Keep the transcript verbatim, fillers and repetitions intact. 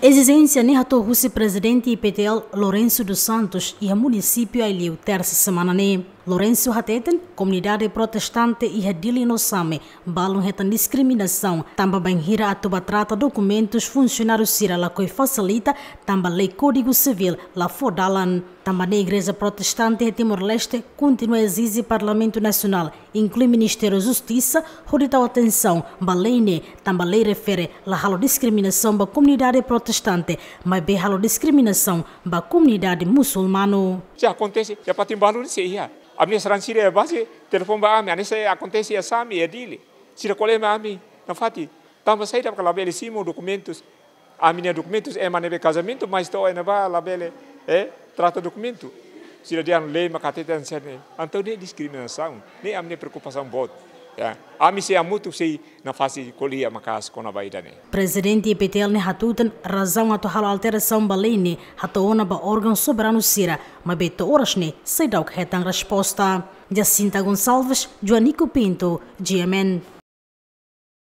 Ezijénsia ne'e hato'o husi Prezidente I P T L Lourenço dos Santos iha munisípiu Aileu, tersa semana ne'e. Lourenço hateten, komunidade protestante iha Dili no Same balun hetan diskriminasaun tanba bainhira atu ba trata dokumentus funsionáriu sira lakohi fasilita tanba lei Kódigu Sivíl la fó dalan. Tanba ne'e igreja protestante iha Timor-Leste kontinua ezije Parlamentu Nasionál, inklui Ministériu Justisa, hodi tau atensaun ba lei ne'e, tanba lei refere la halo diskriminasaun ba komunidade protestante, maibé halo diskriminasaun ba komunidade musulmanu. Se akontese, se patin balu se iha. Ami-nia sarani sira iha baze telefone ba ami, hanesan akontese iha Same, iha Dili. Sira ko'alia mai ami, nafatin. Tanba saida maka labele simu dokumentus. Ami-nia dokumentus ema ne'ebé kazamentu, mas to'o iha ne'ebá labele, eh, trata dokumentu. Sira dehan lei maka hateten hanesan ne'e. Entaun ne'e diskriminasaun. Ne'e ami-nia preokupasaun boot. Ya. Ami sei hamutuk sei nafatin ko'alia maka'as kona-ba ida-ne'e. Prezidente I P T L ne'e hatutan razaun atu halo alterasaun ba lei ne'e hato'o ona ba órgaun soberanu sira, maibé to'o oras ne'e seidauk hetan resposta. Jacinta Gonçalves, Joanico Pinto, G M N.